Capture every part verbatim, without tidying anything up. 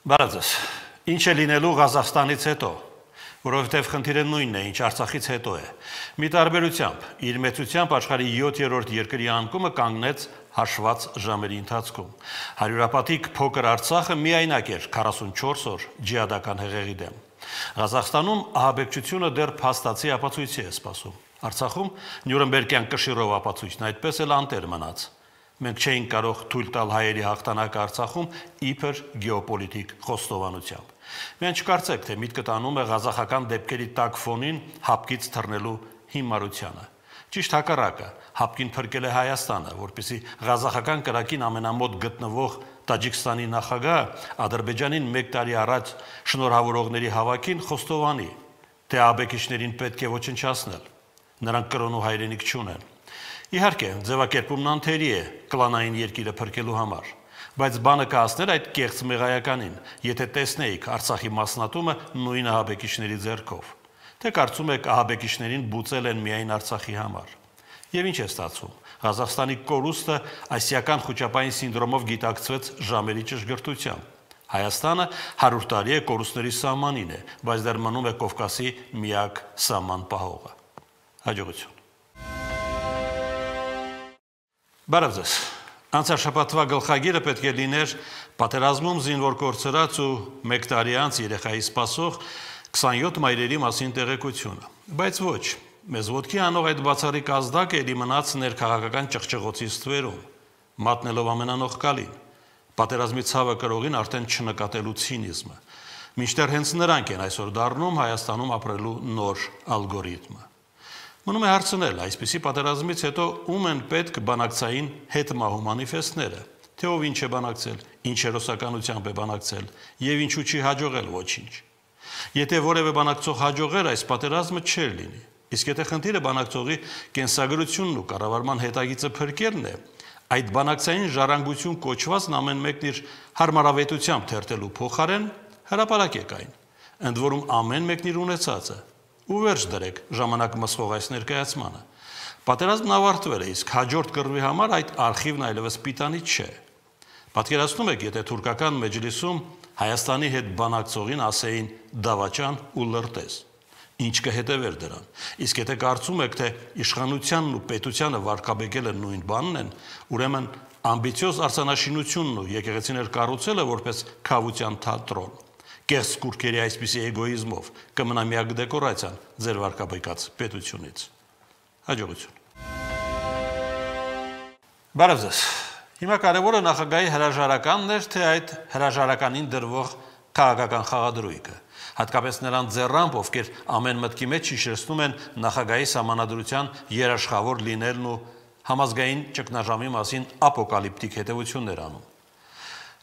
Բարազես, ինչ է լինելու Ղազախստանից հետո, որովհետև խնդիրը նույնն է, ինչ Արցախից հետո է։ Մի տարբերությամբ, իր մեծությամբ աշխարհի յոթերորդ երկրի անկումը կանգնեց հաշված ժամերի ընթացքում։ Հարյուրապատիկ փոքր Արցախը միայնակ էր քառասունչորս օր ջիհադական հեղեղի դեմ։ Ղազախստանում ահաբեկչությունը դեռ փաստացի ապացույցի է սպասում։ Արցախում Նյուրնբերգյան կշիռով ապացույցն այդպես էլ անտեր մնաց։ Մենք չէինք կարող թույլ տալ հայերի հաղթանակը Արցախում իբր գեոպոլիտիկ խոստովանությամբ։ Մենք չկարծեք, թե միտքը տանում է ղազախական դեպքերի տակ ֆոնին հապկից թռնելու հիմարությանը։ Ճիշտ հակառակը, հապկին փրկել է Հայաստանը, որպեսզի ղազախական կրակին ամենամոտ գտնվող Տաջիկստանի նախագահ Ադրբեջանին մեկ տարի առաջ շնորհավորողների հավաքին խոստովանի, թե ահաբեկիչներին պետք է ոչնչացնել։ Նրանք կրոն ու հայրենիք չունեն։ Իհարկե, ձևակերպումն անթերի է կլանային երկիրը փրկելու համար, բայց բանը կհասներ այդ կեղծ մեղայականին, եթե տեսնեիք Արցախի մասնատումը նույն ահաբեկիչների ձեռքով, թե կարծում եք ահաբեկիչներին բուծել են միայն Արցախի համար։ Եվ ինչ է ստացվում։ Ղազախստանի կորուստը ասիական խոճապային սինդրոմով գիտակցվեց ժամերի ճշգրտությամբ։ Հայաստանը հարյուր տարի է կորուստների սահմանին է, բայց դեռ մնում է Կովկասի միակ սահման պահողը։ Հաջողություն։ Բարև ձեզ։ Անցյալ շաբաթվա գլխագիրը պետք է լիներ պատերազմում զինվոր կորցրած ու մեկ տարի անց երեխայի սպասող քսանյոթ մայրերի մասին տեղեկությունը։ Բայց ոչ, մեզ ոտքի անող այդ բացառիկ ազդակը էլի մնաց ներքաղաքական ճղճղոցի ստվերում, մատնելով ամենանողկալին, պատերազմի ցավը կրողին արդեն չնկատելու ցինիզմը, մինչդեռ հենց նրանք են այսօր դառնում Հայաստանում ապրելու նոր ալգորիթմը։ Մնում է հարցնել, այսպիսի պատերազմից հետո ում են պետք բանակցային հետմահու մանիֆեստները, թե ով ինչ է բանակցել, ինչ հերոսականությամբ է բանակցել եւ ինչու չի հաջողել ոչինչ։ Եթե որևէ բանակցող հաջողեր, այս պատերազմը չէր լինի։ Իսկ եթե խնդիրը բանակցողի կենսագրությունն ու կառավարման հետագիծը փրկելն է, այդ բանակցային ժառանգություն կոչվածն ամեն մեկն իր հարմարավետությամբ թերթելու փոխարեն հրապարակեք այն, ընդ որում ամեն մեկն իր ունեցածը ու վերջ դրեք ժամանակ մսխող այս ներկայացմանը։ Պատերազմն ավարտվել է, իսկ հաջորդ կռվի համար այդ արխիվն այլևս պիտանի չէ։ Պատկերացնում եք, եթե թուրքական մեջլիսում Հայաստանի հետ բանակցողին ասեին դավաճան ու լրտես, ինչ կհետևեր դրան։ Իսկ եթե կարծում եք, թե իշխանությանն ու պետությանը վարկաբեկելը նույն բանն են, ուրեմն ամբիցիոզ արձանաշինությունն ու եկեղեցիներ կառուցելը որպես քավության թատրոն, կեղծ կուրքերի այսպիսի էգոիզմով կմնա միակ դեկորացիան ձեր վարկաբեկած պետությունից։ Հաջողություն։ Բարև ձեզ։ Հիմա կարևորը նախագահի հրաժարականն էր, թե այդ հրաժարականին դրվող քաղաքական խաղադրույքը, հատկապես նրան ձեռամբ, ովքեր ամեն մտքի մեջ հիշեցնում են նախագահի սահմանադրության երաշխավոր լինելն ու համազգային ճգնաժամի մասին ապոկալիպտիկ հետևություններ անում։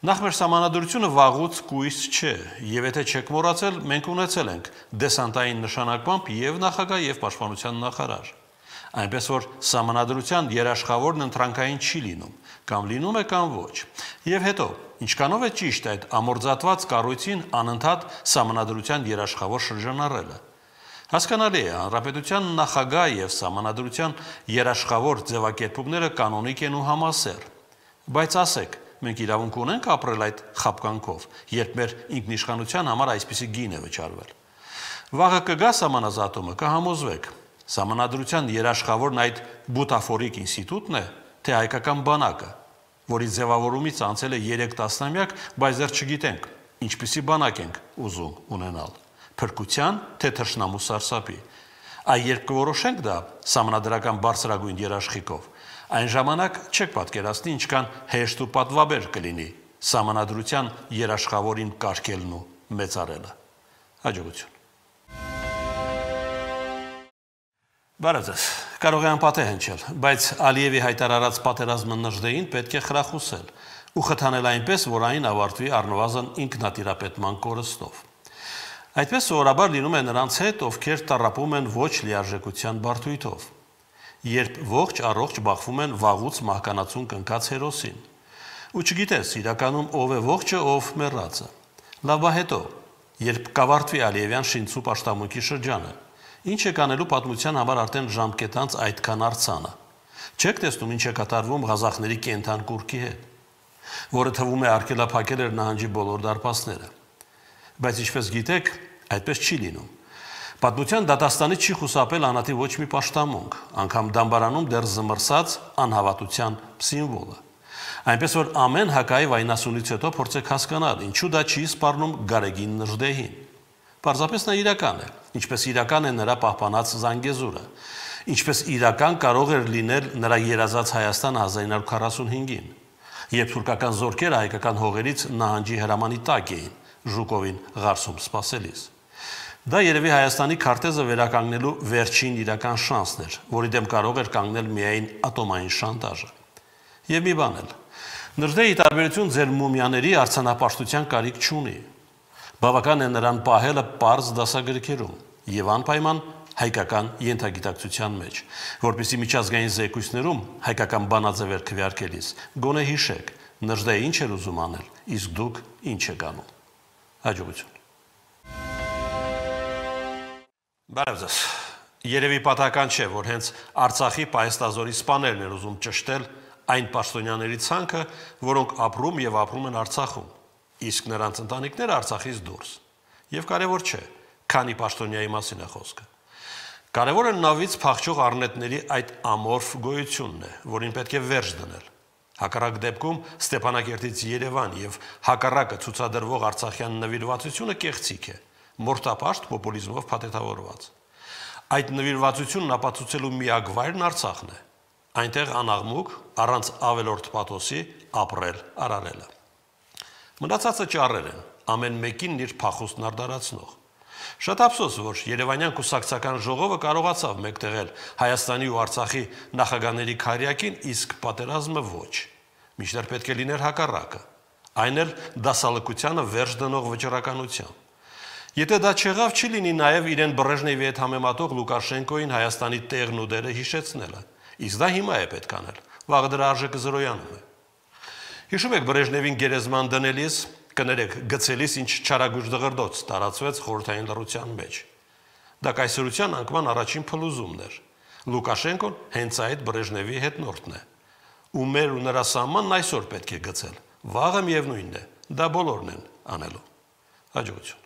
Նախ մեր սահմանադրությունը վաղուց կույս չէ, եւ եթե չեք մոռացել, մենք ունեցել ենք դեսանտային նշանակմամբ եւ նախագահ եւ պաշտպանության նախարար։ Այնպես որ սահմանադրության երաշխավորն ընտրանքային չի լինում, կամ լինում է, կամ ոչ։ Եվ հետո, ինչքանով է ճիշտ այդ ամորձատված կառույցին անընդհատ սահմանադրության երաշխավոր շրջանառելը։ Հասկանալի է, հանրապետության նախագահ եւ սահմանադրության երաշխավոր ձևակերպումները կանոնիկ են ու համասեռ։ Բայց ասեք, մենք իրավունք ունենք ապրել այդ խապկանքով, երբ մեր ինքնիշխանության համար այսպիսի գին է վճարվել։ Վաղը կգա սահմանազատումը, կհամոզվեք։ Սահմանադրության երաշխավորն այդ բուտաֆորիկ ինստիտուտն է, թե հայկական բանակը, որի ձևավորումից անցել է երեք տասնամյակ, բայց դեռ չգիտենք, ինչպիսի բանակ ենք ուզում ունենալ, փրկության, թե թշնամու սարսափի։ Այ երբ կորոշենք դա սահմանադրական բարձրագույն երաշխիքով, այն ժամանակ չեք պատկերացնի ինչքան հեշտ ու պատվաբեր կլինի սահմանադրության երաշխավորին կարգելն ու մեծարելը։ Հաջողություն։ Բարև ձեզ։ Կարող է անպատեհ հնչել, բայց Ալիևի հայտարարած պատերազմը Նժդեին պետք է խրախուսել ու խթանել այնպես, որ այն ավարտվի առնվազն ինքնատիրապետման կորստով։ Այդպես սովորաբար լինում է նրանց հետ, ովքեր տառապում են ոչ լիարժեքության բարդույթով, երբ ողջ առողջ բախվում են վաղուց մահկանացուն կնքած հերոսին։ Ու չգիտես իրականում ով է ողջը, ով մեռածը։ Լավ բա հետո, երբ կավարտվի Ալիևյան շինցու պաշտամունքի շրջանը, ինչ է կանելու պատմության համար արդեն ժամկետանց այդքան արձանը։ Չեք տեսնում ինչ է կատարվում ղազախների կենթան կուրքի հետ։ որը թվում է արգելափակել էր նահանջի բոլոր դարպասները։ Բայց ինչպես գիտեք, այդպես չի լինում։ Պատմության դատաստանից չի խուսափել անհատի ոչ մի պաշտամունք, անգամ դամբարանում դեռ զմռսած անհավատության սիմվոլը։ Այնպես որ ամեն հակայի վայնասունից հետո փորձեք հասկանալ, ինչու դա չի սպառնում Գարեգին Նժդեհին։ Պարզապես նա իրական է, ինչպես իրական է նրա պահպանած Զանգեզուրը, ինչպես իրական կարող էր լինել նրա երազած Հայաստանը հազար իննսուն քառասունհինգին, երբ թուրքական զորքերը հայկական հողերից նահանջի հրամանի տակ էին, Ժուկովին Ղարսում սպասելիս։ Դա երևի Հայաստանի քարտեզը վերականգնելու վերջին իրական շանսն էր, որի դեմ կարող էր կանգնել միայն ատոմային շանտաժը։ Եվ մի բան էլ, Նժդեհի տարբերություն ձեր մումիաների արձանապաշտության կարիք չունի։ Բավական է նրան պահելը պարզ դասագրքերում եւ անպայման հայկական ենթագիտակցության մեջ, որպեսզի միջազգային զեկույցներում հայկական բանաձևեր քվեարկելիս գոնե հիշեք, Նժդեհը ինչ էր ուզում անել, իսկ դուք ինչ եք անում։ Հաջողություն։ Բարև ձեզ։ Երևի պատահական չէ, որ հենց Արցախի պայստազորի սպաներն են ուզում ճշտել այն պաշտոնյաների ցանկը, որոնք ապրում եւ ապրում են Արցախում, իսկ նրանց ընտանիքները Արցախից դուրս։ Եվ կարևոր չէ, քանի պաշտոնյայի մասին է խոսքը։ Կարևորը նավից փախչող առնետների այդ ամորֆ գոյությունն է, որին պետք է վերջ դնել։ Հակառակ դեպքում Ստեփանակերտից Երևան եւ հակառակը ցուցադրվող արցախյան նվիրվածությունը կեղծիք է, մորթապաշտ պոպուլիզմով փաթեթավորված։ Այդ նվիրվածությունն ապացուցելու միակ վայրն Արցախն է։ Այնտեղ անաղմուկ, առանց ավելորդ պաթոսի ապրել արարելը։ Մնացածը ճառեր են, ամեն մեկին իր փախուստն արդարացնող։ Շատ ափսոս, որ Երևանյան կուսակցական ժողովը կարողացավ մեկտեղել Հայաստանի ու Արցախի նախագահների քարյակին, իսկ պատերազմը ոչ։ Մինչդեռ պետք է լիներ հակառակը, այն էլ դասալքությանը վերջ դնող վճռականությամբ։ Եթե դա չեղավ, չի լինի նաև իրեն Բրեժնևի հետ համեմատող Լուկաշենկոին Հայաստանի տեղն ու դերը հիշեցնելը, իսկ դա հիմա է պետք անել, վաղը դրա արժեքը զրոյանում է։ Հիշում եք Բրեժնևին գերեզման դնելիս, կներեք, գցելիս ինչ չարագույժ դղրդոց տարածվեց խորհրդային լռության մեջ։ Դա կայսրության անկման առաջին փլուզումն էր։ Լուկաշենկոն հենց այդ Բրեժնևի հետնորդն է։ Ու մեր ու նրա սահմանն այսօր պետք է գցել։ Վաղը միևնույնն է, դա բոլորն են անելու։ Հաջողություն։